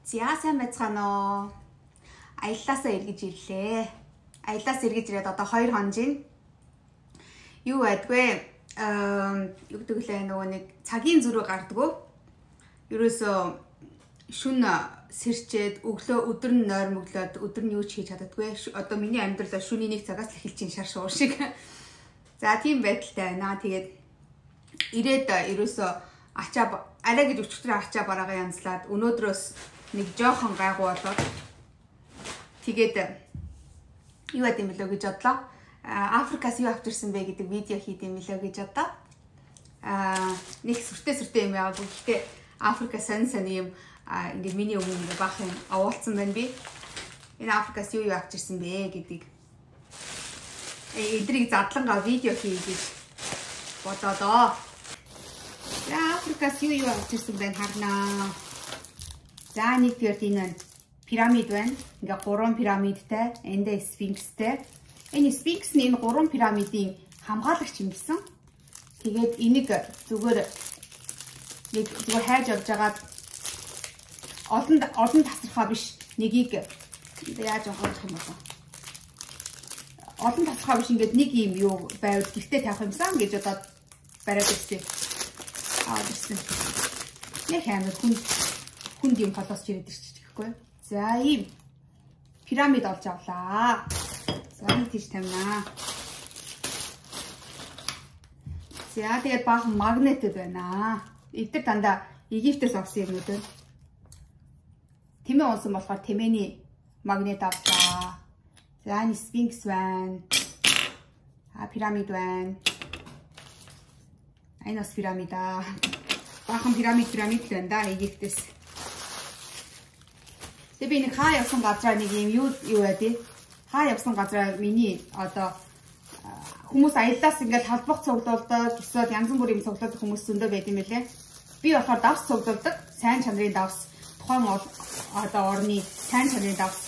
За сайн байцгаана уу. Аяллаасаа эргэж ирлээ. Аяллаас эргэж ирээд одоо 2 хоног жин. Юу байдгүй? Юу гэдэг лээ нөгөө нэг цагийн зүрх гардггүй. Ерөөсөө шүн сэрчээд өглөө өдөр нь нойрмоглоод өдөр нь юу ч хийж чаддаггүй. Одоо миний амьдралаа шүний 1 цагаас эхэлж ин шар шуур шиг. За тийм байдалтай байна. Тэгээд ирээд ерөөсөө арай гэж өчтөр ачаа бараагаа янзлаад өнөөдрөөс нэг жоохон гайгүй болоод тэгээд юу яд юм бэлөө гэж бодлоо. Африкаас юу авчирсан бэ гэдэг видео хийд юм бэлөө гэж бодлоо. Нэг сүртэй юм яагаад гэхдээ Африка сонь юм ингээд миний өмнө ингээд баах юм овоолцсон байна би. Энэ Африкаас юу авчирсан бэ гэдгийг эдрийг задлангаа видео хий гэж бодоодоо. За Африкаас юу авчирсан байна харнаа. За нэг төрт энэ пирамид байна. Ингээ 3 пирамидтай, эндээ сфинкстэй. Энэ сфинкс нь энэ 3 пирамидын хамгаалагч юм гэсэн. Тэгээд энийг зүгээр хайж авч жагаад олон тасархаа биш нэгийг яаж авах юм бэ? Олон тасархаа биш ингээд нэг юм юу байвал гэртээ тавих юмсан гэж одоо бариад ирсэн. Ирсэн. Яг амар хүнд юм холоос чирээд ирчих гэхгүй. За ийм пирамид олж авлаа. За нэг тийш тавина. За тэгээд баахан магнетэд байна. Эдгээр дандаа Египтээс авсан юмнууд байна. Тэмээ унсан болохоор тэмээний магнет авлаа. За энэ сфинкс байна. Пирамид байна. Энэ бас пирамида. Баахан пирамид байна да Египтээс. Тэгээ би нэг хаа явсан газраа нэг юм юу байдیں۔ Хаа явсан газраа миний одоо хүмүүс аяллаас ингээд талбах цуглуулдаг, эсвэл янз бүрийн цуглуулдаг хүмүүс зөндөө байд юм байлээ. Би болохоор давс цуглуулдаг, сайн чанарын давс, тухайн одоо орны сайн чанарын давс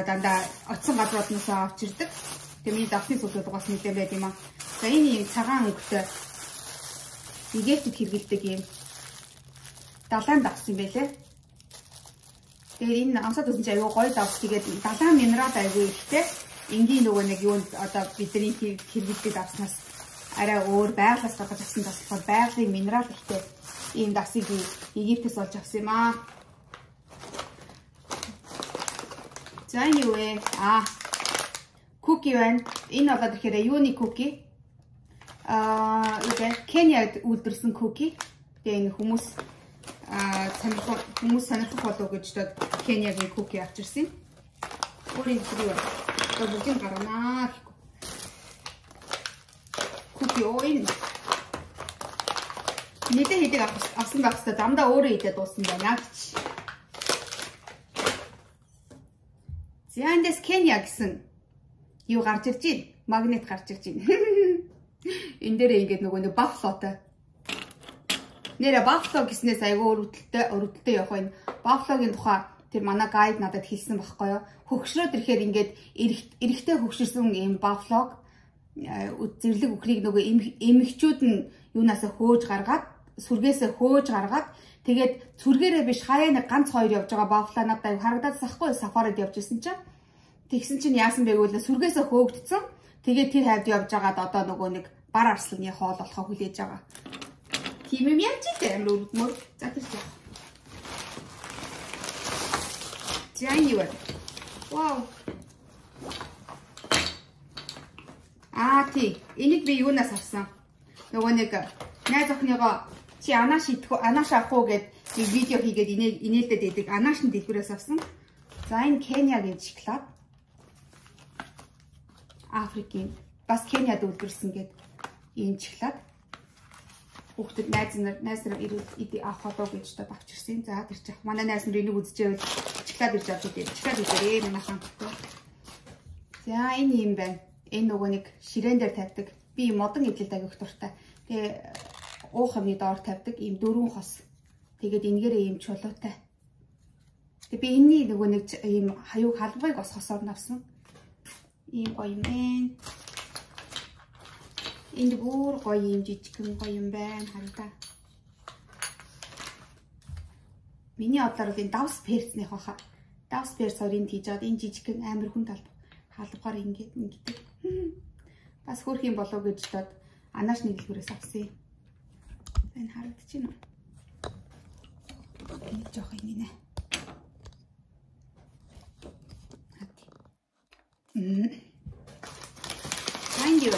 дандаа очсон газрууднаас авчирдаг. Тэгээ миний давсны цуглуулдаг бас мэдээ байд юм аа. За энэ юм цагаан өнгөтэй Египтэд хэрэгэлдэг юм далайн давс юм байлээ. Тэгээд энэ амсаад үзсэн чинь аюу гоё давс. Тэгээд далайн минерал аюу ихтэй. Энгийн нөгөө нэг юунд одоо бидний хэрэгэлдэг давснаас арай өөр байгалаас гадаж авсан давс болохоор байгалийн минерал ихтэй ийм давсыг Египтээс олж авсан юм аа. За энэ юу вэ? Куки байна. Энэ болоод ирэхээр юуны куки? Кенияд үйлдвэрсэн куки. Тэгээ энэ хүмүүс сонирхох болов гэж дод Кениягийн куки авчирсан. Өөрийн зүрх одоо бүгдийг гарганаа. Куки ой. Нийтээ хийдэг авсан байх хэвээр дамдаа өөрөө хийдэг дууссан байна гэж. За эндээс Кения гэсэн юу гарч ирж байна? Магнит гарч ирж байна. Энэ дээр ингээд нөгөө нэг баффалотой. Нэрэ баффало гэснээс айгүй өрөвдөлтөй явах байна. Баффалогийн тухай тэр манай гайд надад хэлсэн байхгүй юу? Хөгшрөөд ирэхээр ингээд эрэхтэй хөгшөрсөн юм баффалог зэрлэг үхрийг нөгөө эмэгчүүд нь юунаас хөөж гаргаад сүргээсээ хөөж гаргаад тэгээд сүргээрээ биш хаяа нэг ганц хоёр явж байгаа баффало надад аюу харагдаад сахгүй сафарид явж исэн чинь тэгсэн чинь яасан бэ гэвэл сүргээсээ хөөгдсөн. Тэгээд тэр хавьд явж байгаад одоо нөгөө нэг бар арсланы хоол болохоо хүлээж байгаа. Тийм юм яаж ч амар өргөмөр. За тэр чинь. Жаний вэ? Вау. Тий. Энийг би юунаас авсан? Нөгөө нэг найз охиныгоо чи анааш авах уу гэд нэг видео хийгээд инээлдэд байдаг. Анаашны дэлгүүрээс авсан. За энэ Кениягийн шоколад. Африкийн бас Кенияд үйлдвэрсэн гэд ийм шоколад. Хүүхдэд найз нар ирээд авах болов гэж дод авчирсан. За тэр чих манай найз нар энийг үзчихвэл шоколад ирж авдаг юм. Шоколад ирээ манайхан. За энэ юм байна. Энэ нөгөө нэг ширээн дээр тавьдаг. Би модон эвлэлд агих дуртай. Тэгээ уух юмны доор тавьдаг ийм 4 хос. Тэгээд энэгээрээ ийм чулуутай. Тэгээ би энэний нөгөө нэг ийм хаюуг халбыг бас хосоор навсан. Ийм гоё юм байна. Энд бүр гоё юм жижигхэн гоё юм байна хараа. Миний бодлоор бол энэ давс перцнийх баха. Давс перц хоёрыг хийж аваад энэ жижигхэн амар хүн халбгаар ингээд. Бас хөөх юм болов гэж бодоод анааш нэг дэлгүүрээс авсан. Энэ харагдчихэв нь. Энэ жоох юм нэ. Thank you.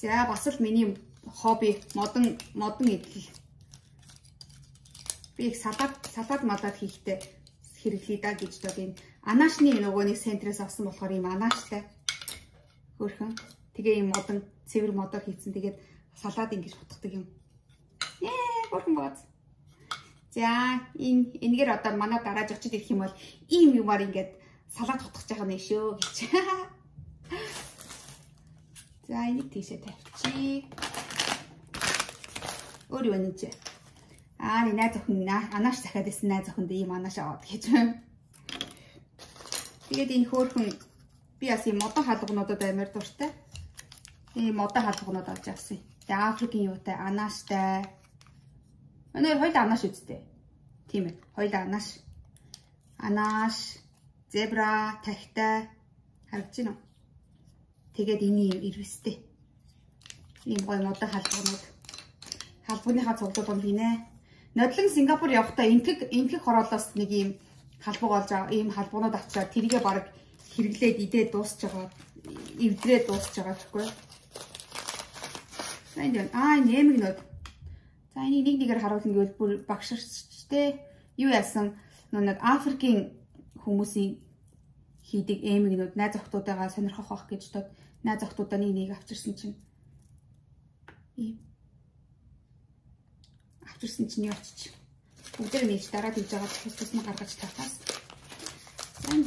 За бас л миний хобби модон идэл. Би их салат малаад хийхдээ хэрэглэе да гэж бод энэ анаашны нөгөө нэг центрээс авсан болохоор ийм анааштай хөөрхөн. Тэгээ ийм модон цэвэр модоор хийцэн. Тэгээд салаад ингэж утгадаг юм. Хөөрхөн бааз. За энэгээр одоо манай дарааж очиж ирэх юм бол ийм юмар ингээд салаад утгах жаах нь шүү гэж. За энийг тийшээ тавьчих. Өөр юу нэж? Нэг найз охин анааш захиад исэн найз охинд ийм анааш аваад гэж. Тэгээд энэ хөөрхөн би бас ийм модон хаалгануудад амар дуртай. Ийм модон хаалганууд олж авсан. Тэгээ Африкийн юутай анааштай. Өнөө хоёул анааш үзтээ. Тийм ээ. Хоёул анааш. Анааш, зебра, тахтай харагдаж байна уу? Тэгээд энэ юм ирвэстэй. Ийм гоё модон хаалганууд. Халбууныхаа цуглууд бол гинэ. Нодлон Сингапур явахдаа энтэг хороолоос нэг ийм халбууг олж ийм халбуунууд авчаад тэрийгээ баг хэрэглээд идээд дуусч байгаа. Эвдрээд дуусч байгаа гэхгүй. Энэ нэмэгнүүд. За энийг нэгээр харуулна гэвэл бүр багширчтэй юу яасан нэг Африкийн хүмүүсийн хийдэг эмэгнүүд найз охтуудаагаа сонирхох байх гэж бодоод найз охтуудаа нэг авчирсан чинь явчих. Бүгдээр нээж дараад хийж байгаа тус нь гаргаж тавтаас. Энд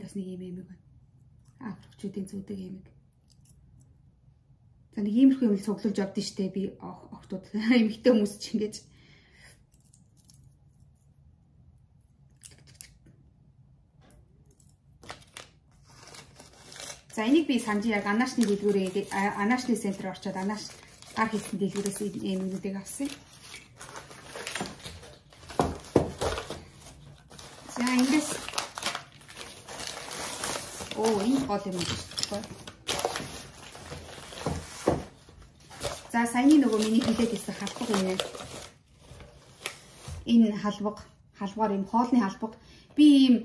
бас нэг юм эмэг байна. Африкчүүдийн зүүдэг эмэг. За нэг иймэрхүү юм цуглуулж явдсан штэ би охтууд эмэгтэй хүмүүс ч ингэж. За энийг би санджи яг анаашны дэлгүүрээ анаашны центр орчоод анааш гар хийсэн дэлгүүрээс эмэгнүүдийг авсан. За эндээс энэ гол юм байна. За саяны нөгөө миний хэлээд ирсэн халбаг юм. Энэ халбгаар юм хоолны халбаг. Би ийм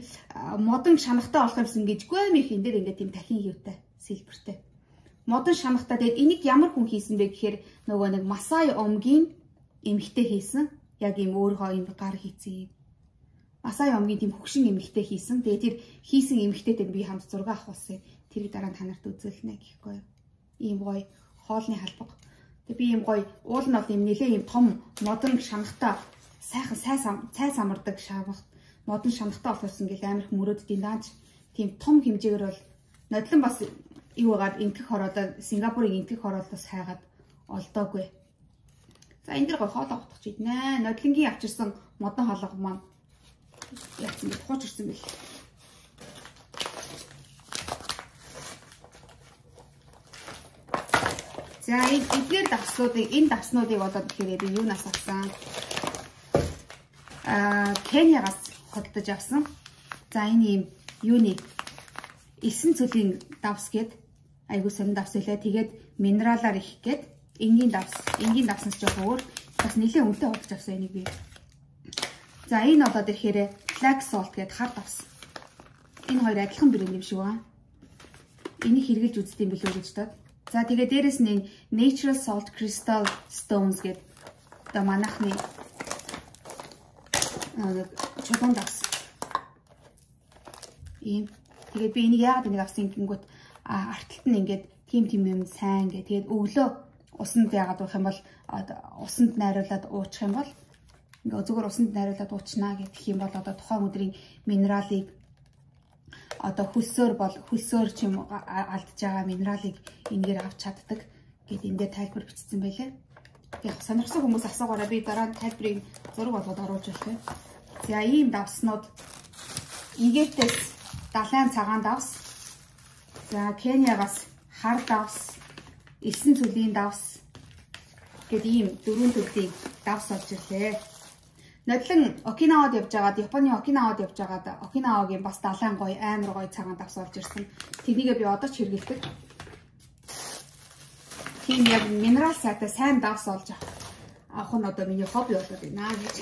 модон шанахтай болох юмсан гэж гомих энэ дээр ингээд тийм дахин юутай сэлбэртэй. Модон шанахтай тэгээд энийг ямар хүн хийсэн бэ гэхээр нөгөө нэг Масай омгийн эмэгтэй хийсэн. Яг ийм өөрөө ийм гар хийцэн. Масай омгийн тийм хөгшин эмэгтэй хийсэн. Тэгээд тэр хийсэн эмэгтэйтэй би хамт зураг авахулсан. Тэрийг дараа нь танарт үзүүлнэ гэхгүй. Ийм гоё хоолны халбаг. Тэгээд би ийм гоё уул нь бол ийм нэлээ ийм том модон шанахтай сайхан цай самардаг шавах модон шанахтай болсон гэл амар их мөрөөддийн дааж тийм том хэмжээгээр бол нодлон бас юугаар энтэх хороолоо Сингапурын энтэх хороолоос хайгаад олдоогүй. За энэ дэр гой хоолоо утгах чийднэ. Нодлонгийн авчирсан модон хоолоо маань яатсан гэж хууч ирсэн бэл. За эдгээр энэ давснуудыг болоод ихээр би юунаас авсан? Кениагаас хөдөлж авсан. За энэ юм юуны 9 цөлийн давс гээд айгуу сонин давс үлээ. Тэгээд минералаар их гээд энгийн давснаас жоох өөр бас нэлээд үнэтэй худалж авсан энийг би. За энэ болоод ирэхээр black salt гээд хар давс. Энэ хоёр адилхан брэнд юм шиг байна. Энийг хэрэглэж үздэм билүү гэж бодоод. За тэгээд дээрэс нь энэ natural salt crystal stones гээд одоо манайхны чулуун давс. Ийм. Тэгээд би энийг яагаад ингэ авсан гингүүт арталт нь ингээд тим юм сайн гэ. Тэгээд өглөө усанд яагаад уух юм бол усанд найруулад уучих юм бол ингээ зүгээр усанд найруулад уучнаа гэх юм бол одоо тухайн өдрийн минералыг одоо хөлсөөр ч юм алдж байгаа минералыг энгээр авч чаддаг гэд эндээ тайлбар бичсэн байлаа. Яг сонирхсан хүмүүс асуугаараа би дараа нь тайлбарыг зураг болгоод оруулж байна. За ийм давснууд игээртээс далайн цагаан давс За Кениагаас хар давс, 9 цүлийн давс гэдэг ийм 4 төрлийн давс олж ирлээ. Нодлон Окинавад явж байгаад, Японы Окинавад явж байгаад Окинавагийн бас далайн гоё, амар гоё цагаан давс олж ирсэн. Тэнийг би одоо ч хэрэглэдэг. Тийм яг минерал сайтай сайн давс олж авах нь одоо миний хобби болоод байна гэж.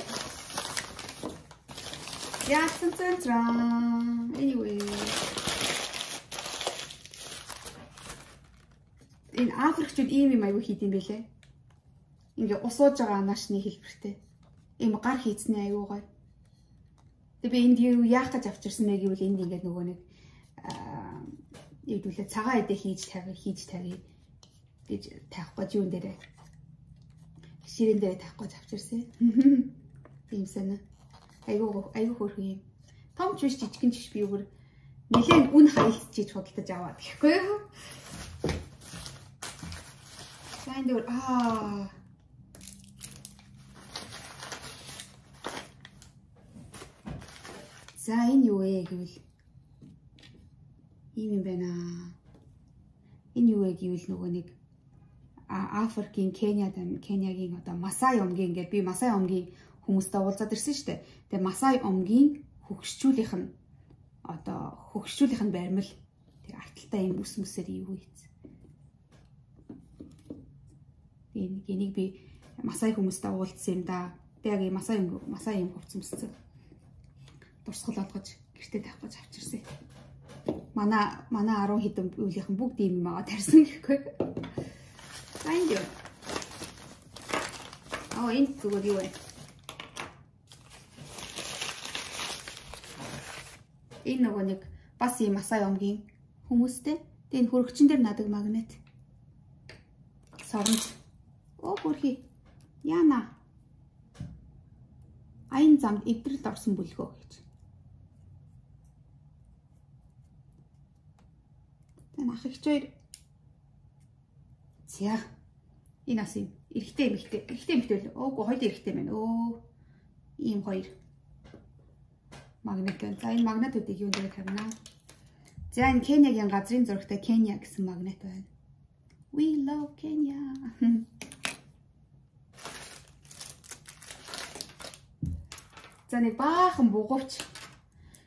Яасан цэнтран. Anyway. Энэ Африкчууд ийм юм аягүй хийд юм бэлээ. Ингээ усууж байгаа анаашны хэлбэртэй. Ийм гар хийцний аягүй гоё. Тэгээ би энд юу яах гэж авчирсан бэ гэвэл энд ингээд нөгөө нэг ийдүүлээ цагаан эдээ хийж тавь гэж таах гэж юун дээрээ ширэн дээр таах гэж авчирсан. Тийм санаа. Аягүй хөөрхөн юм. Том ч биш жижигэн ч биш би өөр нэлээд үн хаялцчиж худалдаж аваад гэхгүй юу? Сайн дээр За энэ юу вэ гэвэл ийм юм байна. Энэ юу вэ гэвэл нөгөө нэг Африкийн Кениагийн одоо Масай омгийн ингээд би Масай омгийн хүмүүстэй уулзаад ирсэн шүү дээ. Тэгээ Масай омгийн хөгшчүүлийнх нь баримл тэг арталтай юм ус мүсээр юу хийц. Энийг би Масай хүмүүстэй уулзсан юм да. Би яг Масай юм хувцс өмссөн. Дурсгал олгож гэртээ тавих гэж авчирсан. Манай 10 хэдэн үеийнхэн бүгд ийм юм аваад тарьсан гэхгүй. Thank you. Энэ зүгээр юу вэ? Энэ нөгөө нэг бас ийм Масай омгийн хүмүүстэй. Тэгээ энэ хөрөгчөн дээр надаг магнит. Соронж. Бүрхий. Яна. Аян замд эвдрэлд орсон бүлгөө гэж. Тэн ах их хоёр. За. Энэ ас юм. Эрэгтэй л. Өөгүй хоёул эрэгтэй байна. Ийм хоёр. Магнит байна. За энэ магнитуудыг юунд дээр тавина? За энэ Кениагийн газрын зурагтай Кения гэсэн магнит байна. We love Kenya. За нэг баахан бугуувч.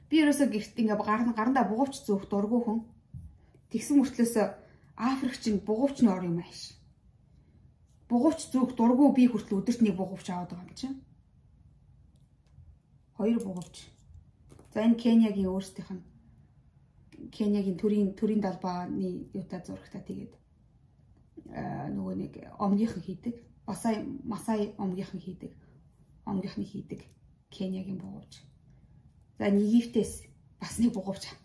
Би ерөөсөө гэрт ингээ гарандаа бугуувч зөөх дургүй хүн. Тэгсэн мөртлөөс Африкч нь бугуувч нь ор юм ааш. Бугуувч зөөх дургүй би хүртэл өдөрт нэг бугуувч аваад байгаа юм чинь. 2 бугуувч. За энэ Кениагийн өөрсдийнх нь Кениагийн төрийн далбааны юутай зурагтай тэгээд нөгөө нэг омгийнхан хийдэг. Масай омгийнхан хийдэг. Омгийнхны хийдэг Кениагийн бугуувч. За Египтээс бас нэг бугуувч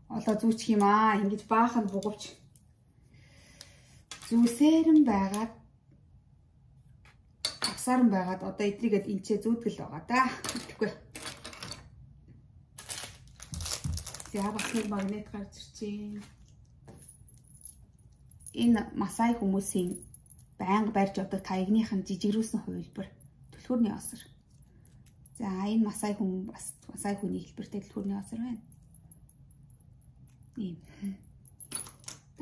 олоо зүүчих юм аа. Ингэж баахан бугуувч зүүсээрэн байгаад авсааран байгаад одоо эдрийгэд энчээ зүүдгэл байгаа да. Гэхгүй. За бас нэг магнит гарч ирчихээн. Энэ Масай хүмүүсийн байнга барьж авдаг таягных нь жижигрүүлсэн хувилбар түлхүүрний осор. За энэ Масай хүн бас Масай хүний хэлбэртэй түлхүүрний осор байна. Ийм.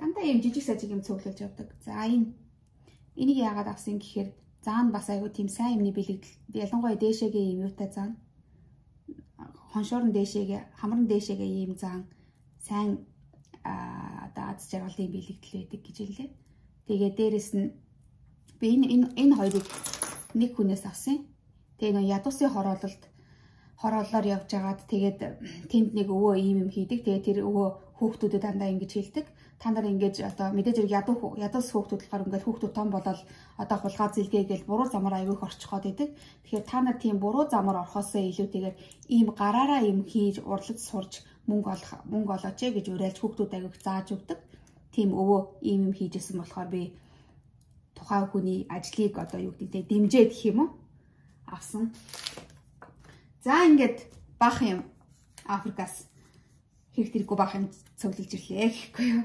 Дандаа ийм жижиг сажиг юм цуглуулж явдаг. За энийг яагаад авсан гэхээр заан бас айгүй тийм сайн юмны бэлэгдэл. Ялангуяа дээшээгээ ийм юутай заан. Хоншоорн дээшээгээ, хамран дээшээгээ ийм заан сайн одоо аз жаргалын бэлэгдэл байдаг гэж хэллээ. Тэгээ дээрэс нь би энэ хоёрыг нэг хүнээс авсан. Тэгээ нөө ядуусын хороолоор явж агаад тэгээд тэнд нэг өвөө ийм юм хийдэг. Тэгээ тэр өвөө хүүхдүүдэд дандаа ингэж хэлдэг. Та нар ингэж одоо мэдээж ядуус хүүхдүүд болохоор ингээд хүүхдүүд том болол одоо хулгай зэлгээ гэж буруу замаар аягүй орчиход идэг. Тэгэхээр та нар тийм буруу замаар орхосоо илүүтэйгээр ийм гараараа юм хийж урлаж сурж мөнгө олооч гэж уриалж хүүхдүүд аягүй зааж өгдөг. Тийм өвөө ийм юм хийжсэн болохоор би тухайн хүний ажлыг одоо юу гэдэг дэмжээд гэх юм уу авсан. За ингээд бах юм Африкаас хэрэгтэргүй бах юм цуглуулж ирлээ гэхгүй юу.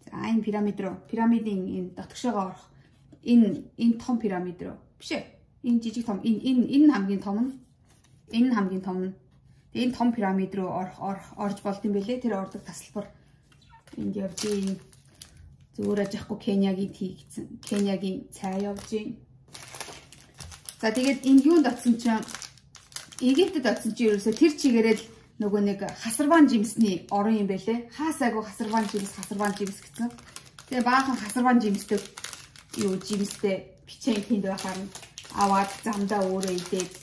За энэ пирамидын энэ дотгошоогоо орох энэ том пирамид руу биш ээ. Энэ жижиг том энэ хамгийн том нь энэ хамгийн том нь энэ том пирамид руу орж болд юм бэлээ. Тэр ордог тасалбар Энд явж ийн. Зүгээр ажихгүй Кениягийн тийгцэн. Кениягийн цай явж ийн. За тэгээд энэ юунд очсон чинь Египтэд очсон чинь ерөөсө тэр чигээрээ л нөгөө нэг хасарван жимсний орон юм байлээ. Хаасаагүй хасарван жимс гэсэн. Тэгээ баахан хасарван жимстэй юу жимстэй бичэн тэнд байхаар аваад замдаа өөрөө идээд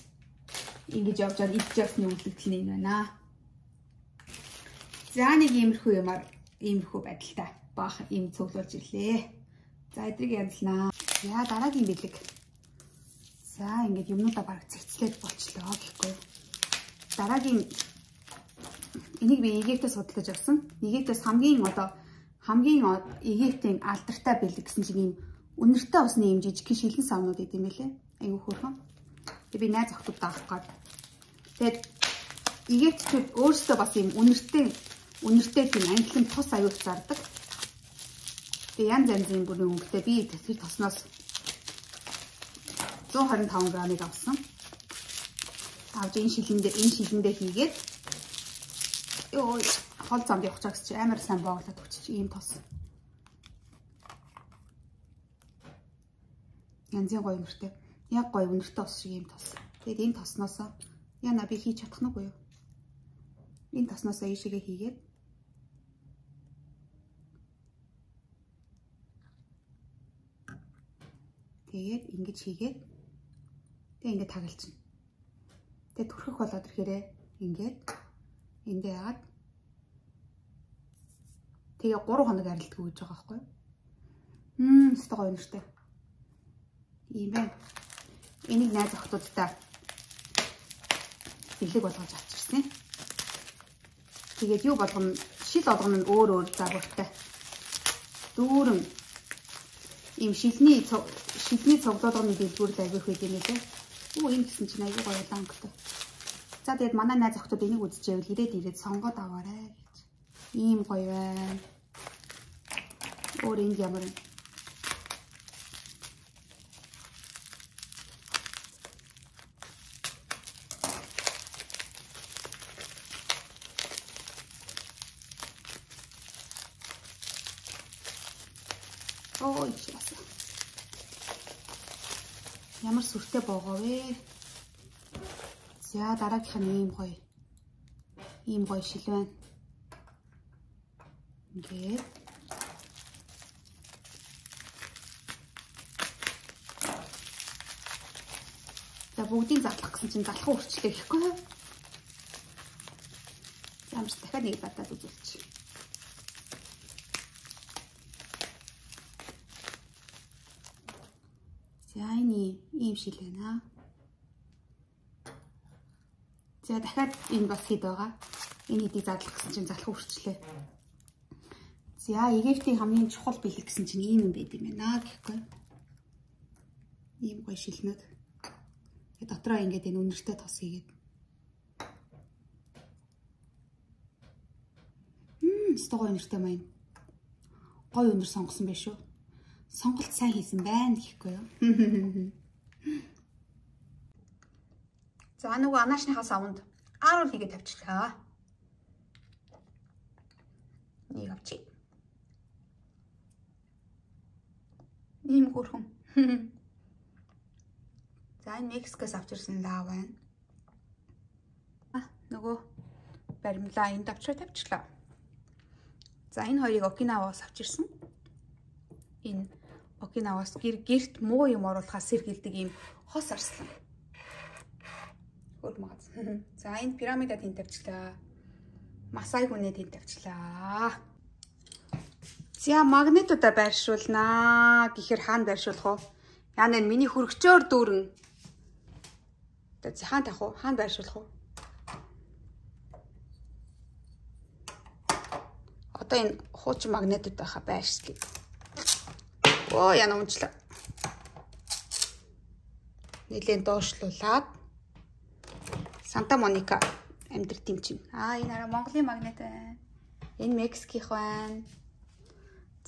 ингэж явж байгаа идж явсны үйлдэл нь байна. За нэг иймэрхүү байдалтай баахан юм цуглуулж ирлээ. За эдрийг янзлнаа. За дараагийн бэлэг. За ингэж юмнуудаа бараг цэгцлээд болчлоо гэхгүй. Дараагийн энийг би Египтээс судалж авсан. Египтээс хамгийн Египтийн алдартай бэлэг гэсэн чинь ийм үнэртэй усны юм жижиг шилэн савнууд идэм байлээ. Айгуу хөөрхөн. Тэгээ би найз охтууд даах гээд. Тэгээд Египтчүүд өөрсдөө бас ийм үнэртэй тийм англин тус аюул зардаг. Тэгээ янз янзын бүрийн өнгөтэй би тэр тосноос 125 грамыг авсан. Авж энэ шилэндээ хийгээд ёо хол замд явах чагс чи амар сайн бооглоод өгч чи ийм тос. Янзын гоё үнэртэй. Яг гоё үнэртэй ус шиг ийм тос. Тэгээд энэ тосноосоо яна би хийж чадах нь уу юу? Энэ тосноосоо ийшээгээ хийгээд тэгээд ингэж хийгээд тэгээд ингэ тагалчихна. Тэгээд түрхэх болоод ирэхээрээ ингээд эндээ яагаад тэгээ 3 хоног арилддаг гэж байгаа байхгүй юу? Өстой гоё нэртэй. Ийм байна. Энийг найз охтуудтай бэлэг болгож авчирсан. Тэгээд юу болгоно шил болгоно нь өөр загвартай. Дүүрэн ийм шилний цуглуулгын дэлгүүр л авих үед юм лээ. Энэ гэсэн чинь аягүй гоё өнгөтэй. За тэгээд манай найз охтууд энийг үзчихвэл ирээд сонгоод аваарай гэж. Ийм гоё байна. Өөр энд ямар вэ? Ой чаас. Ямар сүртэй боогоо вэ? За дараагийнх нь ийм гоё шил байна. Ингээд за бүгдийг задлах гэсэн чинь залхуу өрчлөө гэхгүй юу? Ямарч дахиад нэг батад үзүүлчих. За энэ ийм шил байна. За дахиад энэ бас хэд байгаа. Энэ хэдийг задлах гэсэн чинь залхуу өрчлөө. За Египтийн хамгийн чухал бэлэг гэсэн чинь ийм юм байд юм байна гэхгүй. Ийм гоё шилнүүд. Тэгээ дотроо ингээд энэ үнэртэй тос хийгээд. Стогоо үнэртэй маань. Гоё үнэр сонгосон байх шүү. Сонголт сайн хийсэн байна гэхгүй юу. За нөгөө анаашныхаа савнд ааруул хийгээд тавьчихлаа. Нэг авчи. Ийм хөрхөн. За энэ Мексикоос авчирсан лав байна. Нөгөө баримлаа энд тавьчихлаа. За энэ хоёрыг Окинаваас авчирсан. Энэ Окинаваас гэрт муу юм оруулахаас сэргийлдэг ийм хос арслан. Хөл магаз. За энэ пирамида тэнд тавьчлаа. Масай хүнээ тэнд тавьчлаа. За магнитуудаа байршуулнаа. Гэхээр хаана байршуулах вэ? Яна энэ миний хөргчөөр дүүрэн. За хаана тавих вэ? Хаана байршуулах вэ? Одоо энэ хуучин магнитууд байхаа байршлая. Оо яна унчлаа. Нэлээд доошлуулаад Санта Моника амьдрт юм чинь. Энэ арай Монголын магнит байна. Энэ Мексикийнх байна.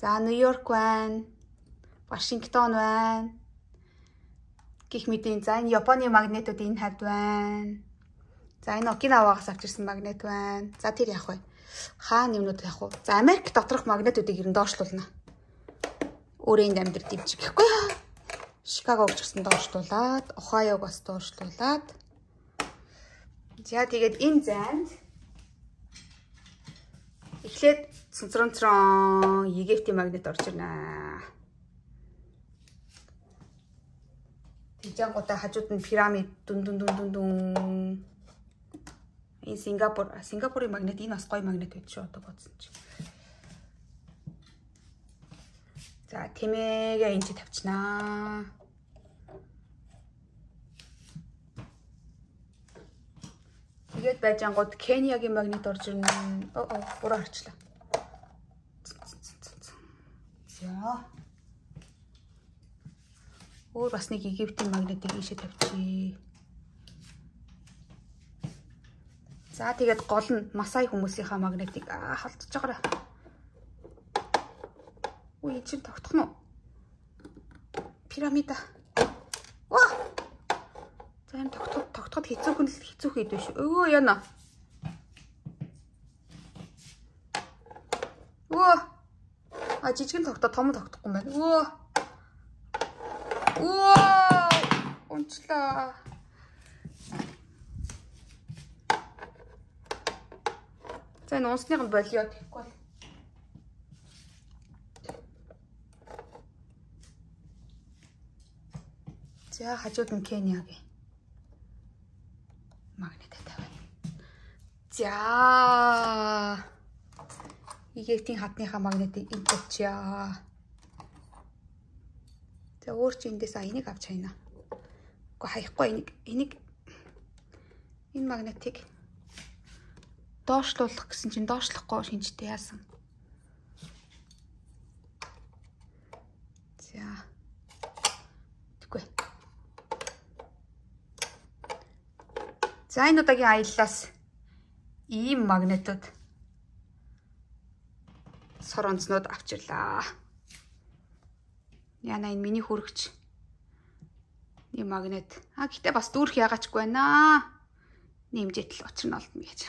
За Нью-Йорк байна. Вашингтон байна. Гэх мэт за энэ Японы магнитууд энэ хавьд байна. За энэ Окинаваас авчирсан магнит байна. За тэр яах вэ? Хаана юмнууд яах вэ? За Америк доторх магнитуудыг ер нь доошлуулна. Өөрийн амьдрал дэмжих гэхгүй. Чикагог ч гэсэн доошлуулад, Ohio-г бас доошлуулад. За тэгээд энэ зайд эхлээд цонцронцрон Египтийн магнит орж ирнэ. Тэгжангуудаа хажууд нь пирамид дүн. Энэ Сингапурын магнит, энэ бас гоё магнит байд шүү одоо бодсон чи. За тэмээгээ энэ чи тавьчихнаа. Тэгээд байжангууд Кениягийн магнит орж ирнэ. Буруу харчлаа. За. Өөр бас нэг Египтийн магнитыг ийшээ тавьчих. За тэгээд гол нь Масай хүмүүсийнхаа магнитыг холдож байгаарай. Үй чи тогтох нь уу? Пирамида. Ваа! За энэ тогтоход хэцүү хийдвэ шүү. Өө яна. Өө. Жижигэн тогтоо том тогтохгүй юм байна. Өө. Унчлаа. За энэ унсных нь болио гэхгүй бол. За хажууд нь Кениягийн магнит тавина. За Египтийн хатныхаа магнитыг энд тавьчаа. За өөр чи эндээс энийг авч хайна. Гэхдээ хаяхгүй энийг энэ магнитыг доошлуулах гэсэн чинь доошлохгүй шинжтэй яасан. За. Тэгвэл. За энэ удаагийн аяллаас ийм магнитууд сор онцнууд авчирлаа. Яна энэ миний хүрэгч. Ийм магнит. Гэтээ бас дүүрх ягаачгүй байна. Нэмжэтэл учир нь олдно гэж.